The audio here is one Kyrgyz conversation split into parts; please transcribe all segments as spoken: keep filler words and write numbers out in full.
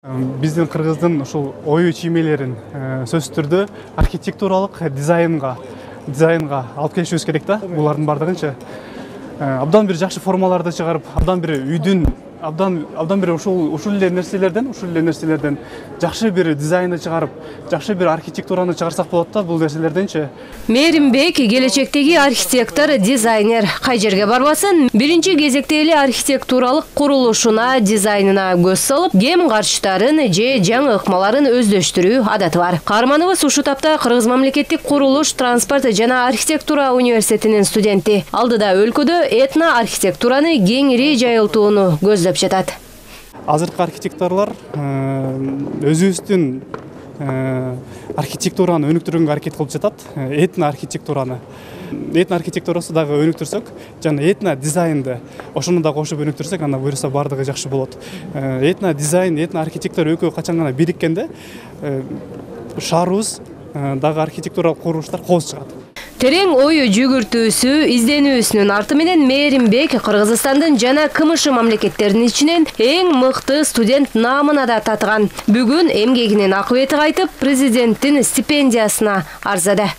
Биздин кыргыздын ушул ою чиймелерин сөзсүз түрдө архитектуралык дизайнга дизайнга алып келишибиз керек да. Булардын бардыгынчы абдан бир жакшы формаларды чыгарып, абдан бир үйдүн абдан абдан бир ушул ушул эле нерселерден, ушул эле нерселерден жакшы бир дизайнды чыгарып, жакшы бир архитектураны чыгарсак болот да бул нерселерденчи. Мээримбек келечектеги архитектор, дизайнер. Кай жерге барбасын, биринчи кезекте эле архитектуралык курулушуна, дизайнына көз салып, кем карчтарын же жаңы ыкмаларын өздөштүрүү адаты бар. Каарманыбыз ушул тапта Кыргыз мамлекеттик курулуш, транспорт жана архитектура университетинин студенти. Алдыда өлкөдө этно архитектураны кеңири жайылтууну көздөп жатат. Азыркы архитекторлор өзүбүздүн архитектураны өнүктүрүүгө аракет кылып жатат. Этно архитектураны. Этно архитектурасы дагы өнүктүрсөк, жана этно дизайнды ошону да кошуп өнүктүрсөк, анда буюрса бардыгы жакшы болот. Этно дизайн, этно архитектура экөө качан гана бириккенде шаарыбыз дагы архитектуралык курулуштар кооз чыгат. Терең ою жүгүртүүсү, изденүүсүнүн арты менен Мээримбек Кыргызстандын жана КМШ мамлекеттеринин ичинен эң мыкты студент наамына да татыган. Бүгүн эмгегинин акыбети кайтып, президенттин стипендиясына арзады.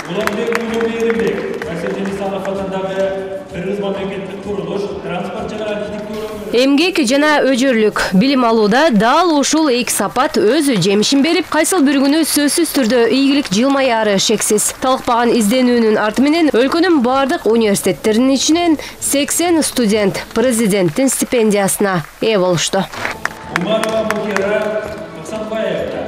Уланбек Мээримбек, Кайсетели Салах атындагы Кыргыз мамлекеттик курулуш, транспорт жана архитектура эмгек жана өжөрлүк билим алууда дал ушул эки сапат өз жемишин берип, кайсыл бир күнү сөзсүз түрдө ийгилик жылмаяры шексиз. Талыкпаган изденүүнүн арты менен өлкөнүн бардык университеттеринин ичинен сексен студент президенттин стипендиясына ээ болушту. Умарова Мухира Оксанбаевна,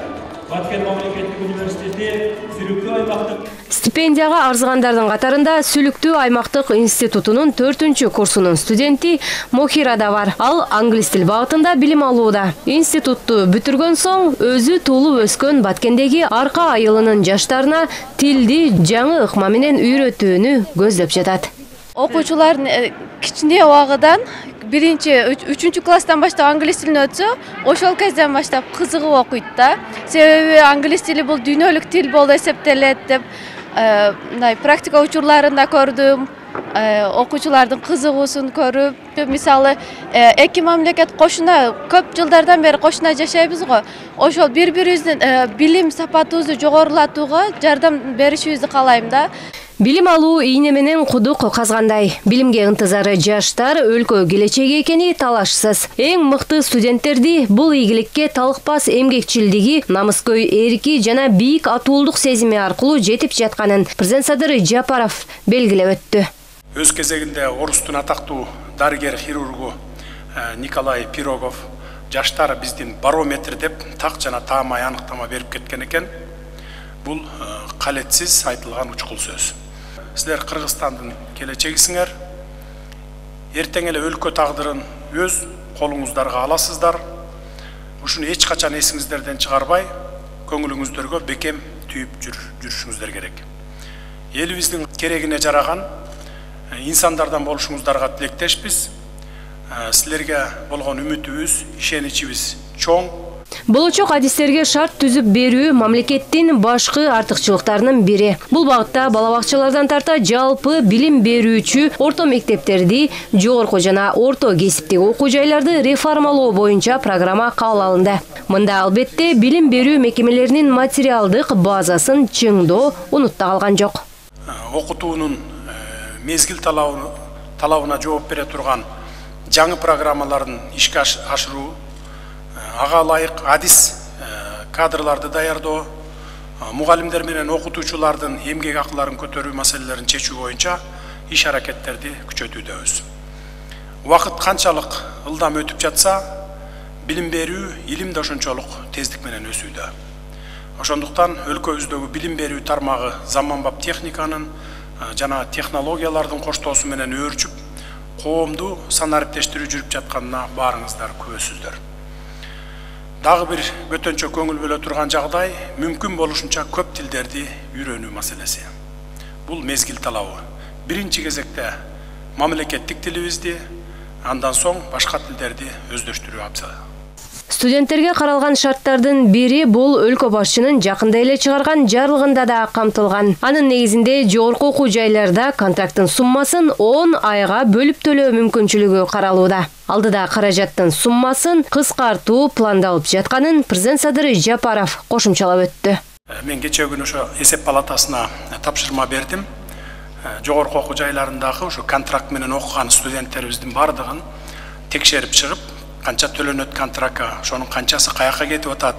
Баткен мамлекеттик университети Сүлүктүү аймактык Стипендияга арзыгандардын катарында Сүлүктүү аймактык институтунун төртүнчү курсунун студенти Мохира да бар. Ал англис тил багытында билим алууда. Институтту бүтүргөн соң өзү туулуп өскөн Баткендеги Арка айылынын жаштарына тилди жаңы ыкма менен үйрөтүүнү көздөп жатат. Окуучулардын кичине убагыдан биринчи, үчүнчү класстан баштап англис тилин өтсө, ошол кезден баштап кызыгып окуйт да. Себеби англис тили бул дүйнөлүк тил болуп эсептелет деп мындай практика учурларында көрдүм. Окуучулардын кызыгуусун көрүп, мисалы эки мамлекет кошуна көп жылдардан бери кошуна жашайбыз го. Ошол бири-бирибиздин билим сапатыбызды жогорулатууга жардам беришибизди каалайм да. Билим алуу ийне менен кудук казгандай. Билимге ынтызары жаштар өлкө келечеги экени талашсыз. Эң мыкты студенттерди бул ийгиликке талыкпас эмгекчилдиги, намыскөй эрки жана бийик атуулдук сезими аркылуу жетип жатканын президент Садыр Жапаров белгилеп өттү. Өз кезегинде Орустун атактуу дарыгер-хирургу Николай Пирогов жаштар биздин барометр деп так жана таамай аныктама берип кеткен экен. Бул калетсиз айтылган учкул сөз. Силер Кыргызстандын келечегисиңер. Эртең эле өлкө тагдырын өз колуңуздарга аласыздар. Ушуну эч качан эсиңиздерден чыгарбай, көңүлүңүздөргө бекем түйүп жүрүшүңүздөр керек. Элибиздин керегине жараган инсандардан болушуңуздарга тилектешпиз. Силерге болгон үмүтүбүз, ишеничибиз чоң. Болочок адистерге шарт түзүп берүү мамлекеттин башкы артыкчылыктарынын бири. Бул багытта бала бакчалардан тарта жалпы билим берүүчү орто мектептерди, жогорку жана орто кесиптик окуу жайларды реформалоо боюнча программа кабыл алынды. Мында албетте билим берүү мекемелеринин материалдык базасын чыңдоо унутта калган жок. Окутуунун мезгил талабына жооп бере турган жаңы программаларын ишке ашыруу, ага ылайык адис кадрларды даярдоо, мугалимдер менен окутуучулардын эмгек акыларын көтөрүү маселелерин чечүү боюнча иш аракеттерди күчөтүүдөбүз. Убакыт канчалык ылдам өтүп жатса, билим берүү, илим да ошончолук тездик менен өсүүдө. Ошондуктан өлкөбүздөгү билим берүү тармагы заманбап техниканын жана технологиялардын коштоосу менен өөрчүп, коомду санариптештирүү жүрүп жатканына баарыңыздар күбөсүздөр. Дагы бир көтөнчө көңүл бөлө турган жагдай мүмкүн болушунча көп тилдерди үйрөнүү маселеси. Бул мезгил талабы. Биринчи кезекте мамлекеттик тилибизди, андан соң башка тилдерди өздөштүрүү абзал. Студенттерге каралган шарттардын бири бул өлкө башчынын жакында эле чыгарган жарлыгында да камтылган. Анын негизинде жогорку окуу жайларда контракттын суммасын он айга бөлүп төлөө мүмкүнчүлүгү каралууда. Алдыда каражаттын суммасын кыскартуу пландалып жатканын президент Садыр Жапаров кошумчалап өттү. Мен кечээ күнү ошо эсеп палатасына тапшырма бердим. Жогорку окуу жайларындагы ошо контракт менен окуган студенттерибиздин бардыгын текшерип чыгып, канча төлөнөт контрактка, ошонун канчасы каяка кетип атат,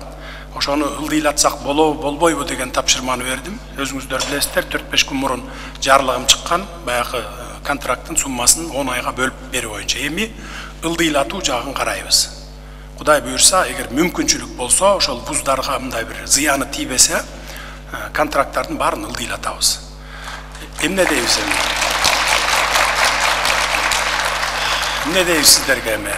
ошону ылдыйлатсак болобу, болбойбу деген тапшырманы бердим. Өзүңүздөр билесиздер, төрт беш күн мурун жарлыгым чыккан, баягы контракттын суммасын он айга бөлүп берүү боюнча. Эми ылдыйлатуу жагын карайбыз. Кудай буюрса, эгер мүмкүнчүлүк болсо, ошол вуздарга мындай бир зыяны тийбесе, контракттардын баарын ылдыйлатабыз. Эмне дейбиз эми? Эмне дейбиз сиздерге эми?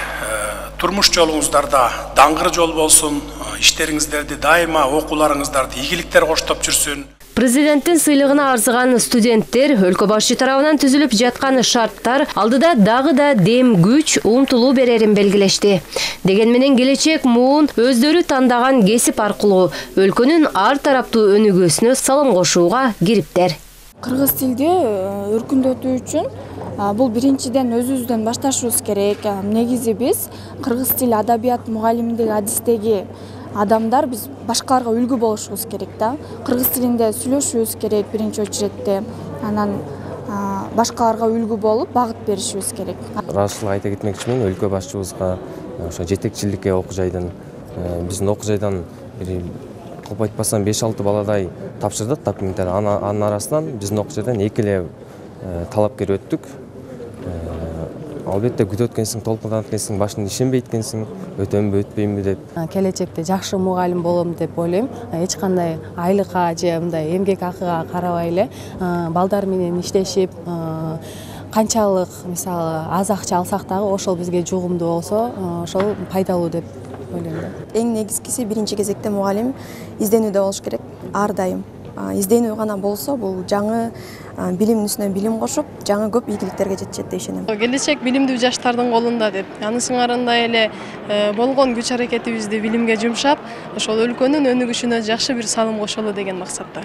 Турмуш жолуңуздарда даңгыр жол болсун, иштериңиздерди дайыма, окууларыңыздарды ийгиликтер коштоп жүрсүн. Президенттин сыйлыгына арзыган студенттер өлкө башчы тарабынан түзүлүп жаткан шарттар алдыда дагы да дем күч, умтулуу берерин белгилешти. Деген менен келечек муун өздөрү тандаган кесип аркылуу өлкөнүн ар тараптуу өнүгүүсүнө салым кошууга кириптер. Кыргыз тилди өркүндөтүү үчүн бул биринчиден өзүбүздөн башташыбыз керек. Негизи биз кыргыз тил адабият мугалимдиги адистеги адамдар биз башкаларга үлгү болушубуз керек да. Кыргыз тилинде сүйлөшүшүбүз керек биринчи очередте. Анан башкаларга үлгү болуп багыт беришибиз керек. Ыраазычылык айта кетмекчимин, өлкө башчыбызга ошо жетекчиликке окуу жайдан биздин окуу жайдан көп айтпасам беш алты баладай тапшырдык документтер. Анын арасынан биздин окуу жайдан эки эле талапкер өттүк. Албетте күтүп өткенсиң, толкундан өткенсиң, башында ишенбейт экенсиң, өтөмбү, өтпөймбү деп. Келечекте жакшы мугалим болом деп ойлойм. Эч кандай айлыкка же мындай эмгек акыга карабай эле балдар менен иштешип, канчалык мисалы аз акча алсак дагы ошол бизге жугумдуу болсо, ошол пайдалуу деп ойлойм. Эң негизгиси биринчи кезекте мугалим изденүүдө болуш керек, ар дайым. Изденүү гана болсо, бул жаңы билимдин үстүнө билим кошуп, жаңы көп ийгиликтерге жетишет деп ишенем. Келечек билимдүү жаштардын колунда деп. Аны сыңарында эле болгон күч аракетибизди билимге жумшап, ошол өлкөнүн өнүгүшүнө жакшы бир салым кошолу деген максатта.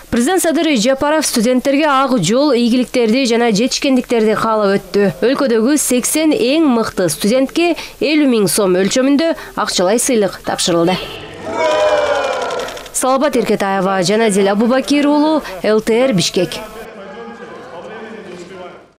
Президент Садыр Жапаров студенттерге ак жол, ийгиликтерди жана жетишкендиктерди каалап өттү. Өлкөдөгү сексен эң мыкты студентке элүү миң сом өлчөмүндө акчалай сыйлык тапшырылды. Салабат Эркетаева, Жанадил Абубакир уулу, эл тэ эр Бишкек.